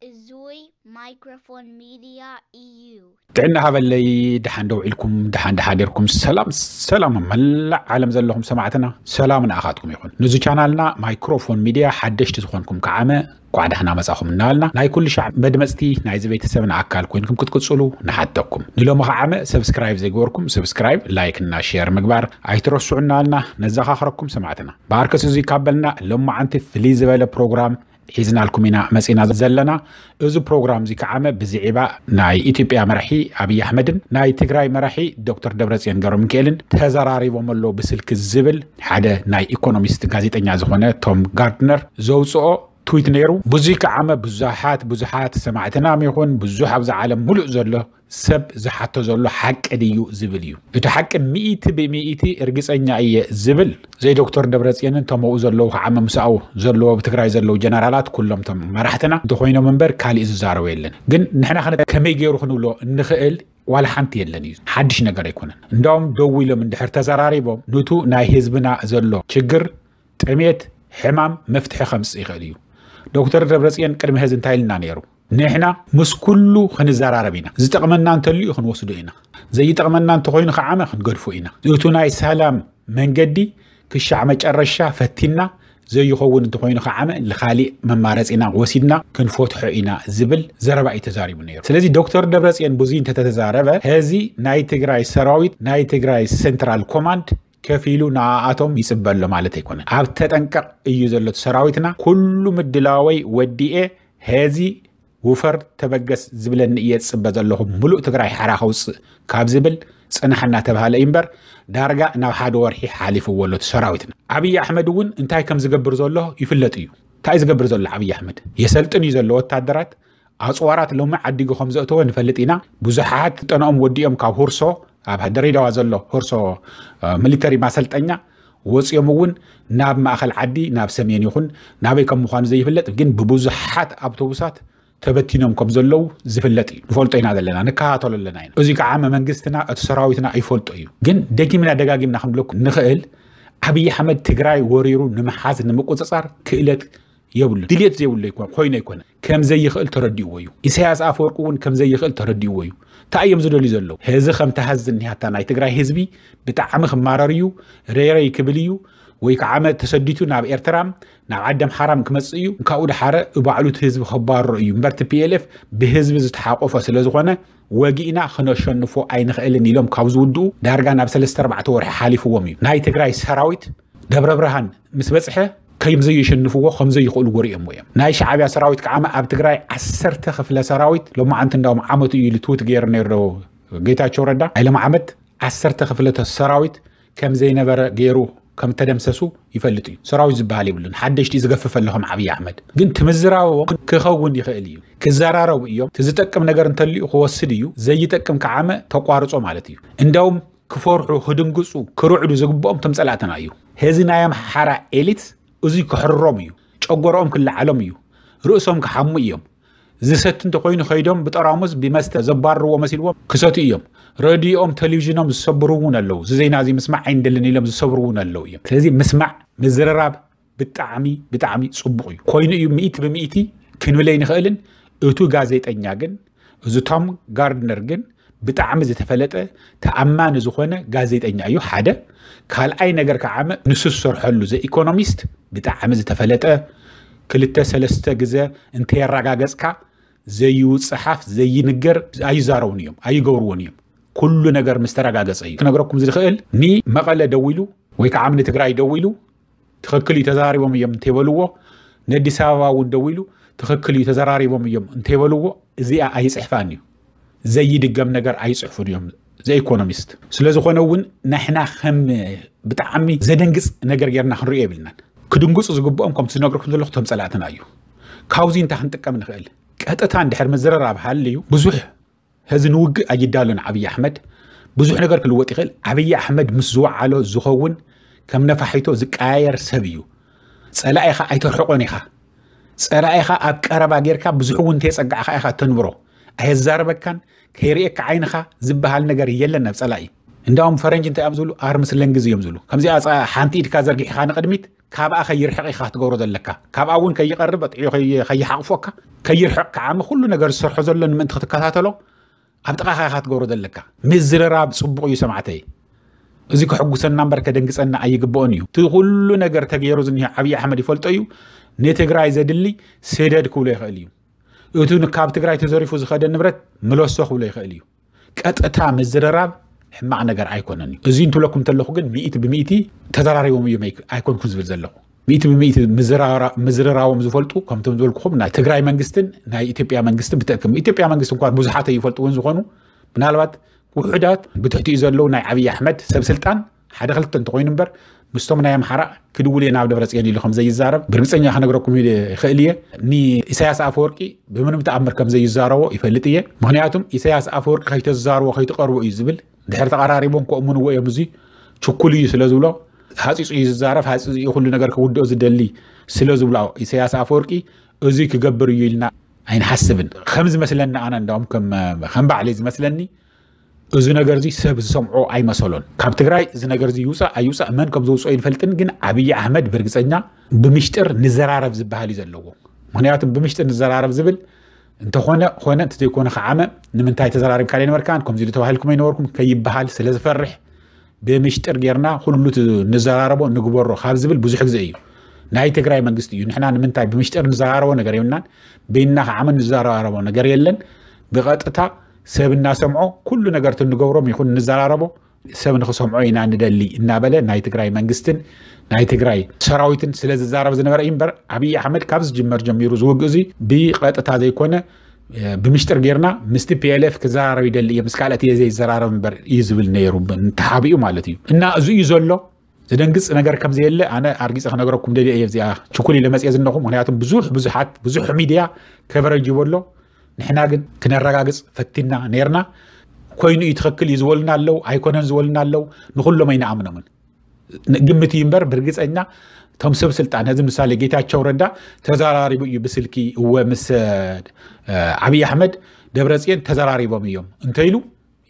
እዙይ ማይክሮፎን ሚድያ እዩ። ጥዕና ሃበለይ። ደሓን ደው ኢልኩም፣ ደሓን ደሓዲርኩም። ሰላም ሰላም፣ መላእ ዓለም ዘለኹም ሰማዕትና፣ ሰላም ንኣኻትኩም ይኹን። ንዚ ቻናልና ማይክሮፎን ሚድያ ሓደሽቲ ዝኾንኩም ከዓመ ኳዕ ደሕና መጻኹም እናበልና፣ ናይ ኩሉ ሻዕ መድመጽቲ ናይዚ ቤተሰብና ኣካል ኮይንኩም ክትቅጽሉ ንሓተኩም። ንሎሚ ከዓመ ሰብስክራይብ ዘይገበርኩም ሰብስክራይብ፣ ላይክ እና ሼር ምግባር ኣይትረስዑ እናበልና ነዘኻኽረኩም ሰማዕትና። ብኣርከስ እዙይ ካብ በልና፣ ሎማዓንቲ ፍልይ ዝበለ ፕሮግራም ሒዝናልኩም ኢና መጺና ዘለና። እዚ ፕሮግራም እዚ ከዓመ ብዝዒባ ናይ ኢትዮጵያ መራሒ ኣብይ ኣሕመድን ናይ ትግራይ መራሒ ዶክተር ደብረጽዮን ገብረሚካኤልን ተዘራሪቦም ኣለዉ ብስልኪ ዝብል ሓደ ናይ ኢኮኖሚስት ጋዜጠኛ ዝኾነ ቶም ጋርድነር ዘውፅኦ ትዊት ነይሩ። ብዙይ ከዓመ ብዙሓት ብዙሓት ሰማዕትናም ይኹን ብዙሕ ኣብዚ ዓለም ሙሉእ ዘሎ ሰብ ዝሓቶ ዘሎ ሓቂ ድዩ ዝብል እዩ። እቲ ሓቂ ሚእቲ ብሚእቲ እርግፀኛ እየ ዝብል ዘይ ዶክተር ደብረፅየንን ተመኡ ዘለዉ ከዓመ ምሳኡ ዘለዎ ብትግራይ ዘለዉ ጀነራላት ኩሎም ቶም መራሕትና እንተኮይኖም እምበር ካሊእ ዝዛረቡ የለን። ግን ንሕና ከነ ከመይ ገይሩ ክንብሎ እንኽእል ዋላ ሓንቲ የለን እዩ። ሓድሽ ነገር ኣይኮነን። እንዳውም ደው ኢሎም እንድሕር ተዘራሪቦም ኑቱ ናይ ህዝብና ዘሎ ችግር ጥሜት ሕማም መፍትሒ ከምፅእ ይኽእል እዩ። ዶክተር ደብረፅየን ቅድሚ ሕዚ እንታይ ኢልና ነይሩ? ንሕና ምስ ኩሉ ክንዘራረብ ኢና። ዝጠቕመና እንተልዩ ክንወስዶ ኢና፣ ዘይጠቕመና እንተኾይኑ ከዓመ ክንገድፎ ኢና። እቱ ናይ ሰላም መንገዲ ክሻዕ መጨረሻ ፈቲና ዘይኸውን እንተኾይኑ ከዓመ ንኻሊእ መማረፂና ወሲድና ክንፈትሖ ኢና ዝብል ዘረባ እዩ ተዛሪቡ ነይሩ። ስለዚ ዶክተር ደብረፅየን ብዙይ እንተተዛረበ ሕዚ ናይ ትግራይ ሰራዊት ናይ ትግራይ ሴንትራል ኮማንድ ከፊሉ ንኣኣቶም ይፅበ ኣሎ ማለት ኣይኮነን። ኣብ ተጠንቀቕ እዩ ዘሎ እቲ ሰራዊትና። ኩሉ ምድላወይ ወዲኤ ሕዚ ውፈር ተበገስ ዝብለኒ እየ ዝፅበ ዘለኹ፣ ምሉእ ትግራይ ሓራ ከውፅእ ካብ ዝብል ፅናሕ እናተባሃለ እዩ እምበር ዳርጋ ናብ ሓደ ወርሒ ሓሊፍዎ ኣሎ እቲ ሰራዊትና። ኣብይ ኣሕመድ እውን እንታይ ከም ዝገብር ዘሎ ይፍለጥ እዩ። እንታይ ዝገብር ዘሎ ኣብይ ኣሕመድ? የሰልጥን እዩ ዘሎ ወታደራት። ኣፅዋራት ሎሚ ዓዲጉ ከም ዘእተወ ንፈልጥ ኢና። ብዙሓት ስልጠናኦም ወዲኦም ካብ ሁርሶ ኣብ ድሬዳዋ ዘሎ ሁርሶ ሚሊተሪ ማሰልጠኛ ወፂኦም እውን ናብ ማእኸል ዓዲ ናብ ሰሜን ይኹን ናበይ ከም ምዃኑ ዘይፍለጥ ግን ብብዙሓት ኣውቶቡሳት ተበቲኖም ከም ዘለዉ ዝፍለጥ እዩ። ንፈልጦ ኢና ዘለና፣ ንከታተሎ ኣለና ኢና። እዚ ከዓ መንግስትና እቲ ሰራዊትና ይፈልጦ እዩ። ግን ደጊምና ደጋጊምና ክንብለኩም ንኽእል ኣብይ ኣሕመድ ትግራይ ወሪሩ ንምሓዝ ንምቁፅፃር ክእለት የብሉ። ድልየት ዘይብሉ ኣይኮ- ኮይኑ ኣይኮነ ከም ዘይኽእል ተረዲእዎ እዩ። ኢሳያስ ኣፈወርቂ እውን ከም ዘይኽእል ተረዲእዎ እዩ። እንታይ እዮም ዝደልዩ ዘለዉ? ሕዚ ከምቲ ሐዚ ዝኒሃታ ናይ ትግራይ ህዝቢ ብጣዕሚ ክማረር እዩ፣ ረይረይ ክብል እዩ፣ ወይ ከዓ መ ተሰዲቱ ናብ ኤርትራም ናብ ዓዲ ኣምሓራም ክመፅእ እዩ። ካብኡ ድሓረ ባዕሉ እቲ ህዝቢ ከባርሮ እዩ እምበር ቲ ፒ ኤል ኤፍ ብህዝቢ ዝተሓቆፈ ስለ ዝኾነ ወጊእና ክነሸንፎ ኣይንኽእልን ኢሎም ካብ ዝውድኡ ዳርጋ ናብ ሰለስተ ኣርባዕተ ወርሒ ሓሊፍዎም እዩ። ናይ ትግራይ ሰራዊት ደብረ ብርሃን ምስ በፅሐ ከም ዘየሸንፍዎ ከም ዘይኽእሉ ወሪኦምዎ እዮም። ናይ ሻዕብያ ሰራዊት ከዓ ኣብ ትግራይ ዓሰርተ ክፍለ ሰራዊት ሎማዓንቲ እንዳውም ዓመቱ እዩ ኢሉ ትዊት ገይሩ ነይሩ ዶ ጌታቸው ረዳ ኣይለማዓመት ዓሰርተ ክፍለ ሰራዊት ከም ዘይነበረ ገይሩ ከም ተደምሰሱ ይፈልጥ እዩ። ሰራዊት ዝበሃል የብሉን። ሓደሽቲ ዝገፍፍ ኣሎ ከም ዓብዪ ኣሕመድ ግን ትምዝራቦም ክኸውን ይኽእል እዩ። ክዘራረቡ እዮም። እቲ ዝጠቅም ነገር እንተልዩ ክወስድ እዩ። ዘይጠቅም ከዓመ ተቋርጾ ማለት እዩ። እንዳውም ክፈርሑ ክድንግፁ ክርዕዱ ዝግብኦም ቶም ፀላእትና እዩ። ሕዚ ናይ ኣምሓራ ኤሊት እዙይ ክሕርሮም እዩ። ጨጎርኦም ክለዓሎም እዩ። ርእሶም ክሓሙ እዮም። ዝሰቲ እንተኮይኑ ከይዶም ብጠራሙዝ ብመስተ ዘባርርዎ መሲልዎም ክሰቱ እዮም። ረድኦም ቴሌቪዥኖም ዝሰብሩ እውን ኣለዉ። እዚ ዜና እዚ ምስማዕ ኣይንደልን ኢሎም ዝሰብሩ እውን ኣለዉ እዮም። ስለዚ ምስማዕ ምዝርራብ ብጣዕሚ ብጣዕሚ ፅቡቕ እዩ። ኮይኑ እዩ ሚእቲ ብሚእቲ ክንብል ኣይንኽእልን። እቱ ጋዜጠኛ ግን እዚ ቶም ጋርድነር ግን ብጣዕሚ ዝተፈለጠ ተኣማኒ ዝኾነ ጋዜጠኛ እዩ ሓደ። ካልኣይ ነገር ከዓ ንሱ ዝሰርሐሉ ዘ ኢኮኖሚስት ብጣዕሚ ዝተፈለጠ ክልተ ሰለስተ ግዘ እንተየረጋገፅካ ዘይውፅሓፍ ዘይንገር ኣይዛረቡን እዮም ኣይገብርዎን እዮም። ኩሉ ነገር ምስ ተረጋገፀ እዩ ክነግረኩም ዝኽእል። ንመቐለ ደዊሉ ወይ ከዓ ንትግራይ ደዊሉ ትኽክል እዩ ተዘራሪቦም እዮም እንተይበልዎ ነዲስ ኣበባ እውን ደዊሉ ትኽክል እዩ ተዘራሪቦም እዮም እንተይበልዎ እዚኣ ኣይፅሕፋን እዩ። ዘይድገም ነገር ኣይፅሕፉን እዮም ዘኢኮኖሚስት። ስለዝኾነ እውን ንሕና ከም ብጣዕሚ ዘደንግፅ ነገር ጌርና ክንሪኦ የብልናን። ክድንግፁ ዝግብኦም ከምቲ ዝነግርኩም ዘለኹ ቶም ፀላእትና እዩ። ካብዚ እንታይ ክንጥቀም ንኽእል? ቀጥታ እንድሕር ምዝርራብ ሃልዩ ብዙሕ ሕዚ ንውግእ ኣይዳሎን ኣብይ ኣሕመድ ብዙሕ ነገር ክልወጥ ይኽእል። ኣብይ ኣሕመድ ምስ ዝወዓሎ ዝኸውን ከም ነፋሒቶ ዝቀያየር ሰብ እዩ። ፀላኢኻ ኣይተርሕቆን ኢኻ። ፀላኢኻ ኣብ ቀረባ ጌርካ ብዙሕ እውን እንተየፀጋዕኻ ኢኻ ተንብሮ። ኣየዛረበካን ከይርእየካ ዓይንኻ ዝበሃል ነገር የለን ናብ ፀላኢ። እንዳውም ፈረንጅ እንታይ እዮም ዝብሉ? ኣርምስ ለንግዝ እዮም ዝብሉ። ከምዚኣ ሓንቲ ኢድካ ዘርጊሕኻ ንቕድሚት፣ ካብኣ ከይርሕቕ ኢኻ ክትገብሮ ዘለካ። ካብኣ እውን ከይቐርብ፣ ኣጥዕዮ ከይሓቕፎካ፣ ከይርሕቕ ከዓሚ ኩሉ ነገር ዝሰርሖ ዘሎ ንምእንቲ ክትከታተሎ ኣብ ጥቓኻ ኢኻ ክትገብሮ ዘለካ። ምዝርራብ ጽቡቕ እዩ ሰማዕተይ። እዚ ከሕጉሰና እምበር ከደንግጸና ኣይግብኦን እዩ። እቲ ኩሉ ነገር ተገይሩ ዝኒሀ ኣብይ ኣሕመድ ይፈልጦ እዩ። ንትግራይ ዘድሊ ስደድ ክብሎ ይኽእል እዩ። እቱ ካብ ትግራይ ተዘሪፉ ዝኸደ ንብረት ምለሶ ክብሎ ይኽእል እዩ። ቀጥታ ምዝርራብ ሕማቕ ነገር ኣይኮነን እዩ። እዚ እንትብለኩም እንተለኹ ግን ሚእቲ ብሚእቲ ተዘራሪቦም እዮም ኣይኮንኩን ዝብል ዘለኹ። ሚእቲ ብሚእቲ ምዝርራቦም ዝፈልጡ ከምቶም ዝበልኩኹም ናይ ትግራይ መንግስትን ናይ ኢትዮጵያ መንግስትን ብትእክም ኢትዮጵያ መንግስት እንኳን ብዙሓት ኣይፈልጥውን ዝኾኑ ምናልባት ውሑዳት ብትሕቲኡ ዘለዉ ናይ ዓብዪ ኣሕመድ ሰብ ስልጣን ሓደ ክልተ እንተኾይኑ እምበር ምስቶም ናይ ኣምሓራ ክድውል እየ ናብ ደብረፅዮን ኢሉ ከም ዘይዛረብ ብርግፀኛ ክነግረኩም ይኽእል እየ። ንኢሳያስ ኣፈወርቂ ብምንም ተኣምር ከም ዘይዛረቦ ይፈልጥ እየ። ምክንያቱም ኢሳያስ ኣፈወርቂ ከይተዛርቦ ከይትቐርቦ እዩ ዝብል። ድሕሪ ተቐራሪቦም ከእምንዎ እዮም። እዚ ችኩል እዩ ስለ ዝብሎ ሃፂፁ እዩ ዝዛረብ። ሃፂፁ እዩ ኩሉ ነገር ክውድኦ ዝደሊ ስለ ዝብሎ ኢሳያስ ኣፈወርቂ እዚ ክገብር እዩ ኢልና ኣይንሓስብን። ከም ዝመስለኒ ኣነ እንዳውም ከም ባዕለይ ዝመስለኒ እዚ ነገር እዚ ሰብ ዝሰምዖ ኣይመሰሎን። ካብ ትግራይ እዚ ነገር እዚ ይውፃእ ኣይውፃእ መን ከም ዘውፅኦ ይንፈልጥን፣ ግን ዓብዪ ኣሕመድ ብርግፀኛ ብምሽጥር ንዘራረብ ዝበሃል እዩ ዘለዎ። ምክንያቱ ብምሽጥር ንዘራረብ ዝብል እንተኾነ ኮነ እንተዘይኮነ ከዓመ ንምንታይ ተዘራሪብካ ዘይነበርካን ከምዚ ኢሉ ተባሂልኩም ኣይነበርኩም ከይበሃል ስለ ዝፈርሕ ብምሽጥር ጌርና ኩሉ ንዘራረቦ ንግበሮ ካብ ዝብል ብዙሕ ግዜ እዩ። ናይ ትግራይ መንግስቲ እዩ። ንሕና ንምንታይ ብምሽጥር ንዘራረቦ ነገር የብልናን፣ በይንና ከዓመ ንዘራረቦ ነገር የለን። ብቐጥታ ሰብ እናሰምዖ ኩሉ ነገር እንገብሮም ይኹን ንዘራረቦ ሰብ ንክሰምዖ ኢና ንደሊ እናበለ ናይ ትግራይ መንግስትን ናይ ትግራይ ሰራዊትን ስለ ዝዛረብ ዝነበረ እዩ እምበር ኣብይ ኣሕመድ ካብ ዝጅመር ጀሚሩ ዝውግእ እዚ ብቐጥታ ዘይኮነ ብምሽጥር ጌርና ምስቲ ፒኤልኤፍ ክዘራረብ ይደሊ እየ ምስ ካልኦት እየ ዘይዘራረብ እምበር እዩ ዝብል ነይሩ ተሓቢኡ ማለት እዩ። እና እዚ እዩ ዘሎ። ዘደንግፅ ነገር ከም ዘየለ ኣነ ኣርጊፀ ክነግረኩም ደልየ እየ። እዚኣ ችኩል ኢለ መፅየ ዝነኹ ምክንያቱም ብዙሕ ብዙሓት ብዙሕ ሚድያ ከቨረጅ ይበሎ። ንሕና ግን ክነረጋግፅ ፈቲና ነርና። ኮይኑ እዩ ትኽክል እዩ ዝበሉና ኣለው ኣይኮነን ዝበሉና ኣለው። ንኩሎም ኣይንኣምኖምን። ግምት እዩ እምበር ብርግፀኛ እቶም ሰብ ስልጣን እዚ ምሳሌ ጌታቸው ረዳ ተዘራሪቡ እዩ ብስልኪ እወ ምስ ዓብይ ኣሕመድ ደብረፅዮን ተዘራሪቦም እዮም እንተኢሉ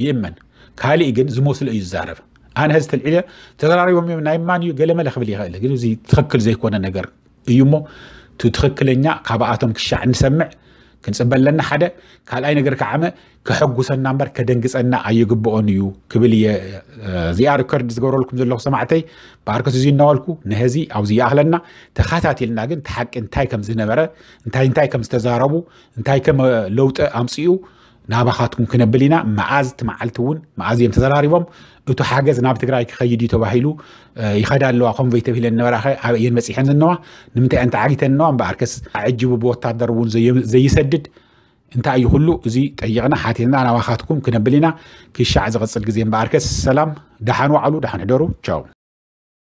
ይእመን። ካሊእ ግን ዝመስሎ እዩ ዝዛረብ። ኣነ ህዚ ተልዒለ ተዘራሪቦም እዮም ናይ ማን እዩ ገለመለ ክብል ይኽእል፣ ግን እዚ ትኽክል ዘይኮነ ነገር እዩ እሞ እቲ ትኽክለኛ ካብኣቶም ክሻዕ ንሰምዕ ክንፅበ ኣለና ሓደ። ካልኣይ ነገር ከዓመ ከሐጉሰና እምበር ከደንግፀና ኣይግብኦን እዩ ክብል እየ። እዚኣ ሪከርድ ዝገብረልኩም ዘለኹ ሰማዕተይ ብኣርከስ እዚ እናበልኩ ንህዚ ኣብዚ ይኣኽለና። ተኸታቲልና ግን እቲ ሓቂ እንታይ ከም ዝነበረ እንታይ እንታይ ከም ዝተዛረቡ እንታይ ከም ለውጢ ኣምፅኡ ናባኻትኩም ክነብል ኢና። መዓዝ እቲ መዓልቲ እውን መዓዝ እዮም ተዘራሪቦም እቱ ሓገዝ ናብ ትግራይ ክኸይድ እዩ ተባሂሉ ይኸዳ ኣለዋ ኮንቨይ ተብሂለን ነበራኸ ኣበየን በፂሐን ዝነዋ ንምንታይ እየን ተዓጊተን ነዋ እምበኣርከስ ኣዕጅቡ ብወታደር እውን ዘይሰድድ እንታይ እዩ ኩሉ እዚ ጠይቕና ሓቲትና ናባኻትኩም ክነብል ኢና። ክሻዕ ዝቕፅል ግዜ እምበኣርከስ ሰላም ደሓን ዋዕሉ ደሓን ሕደሩ ቻው።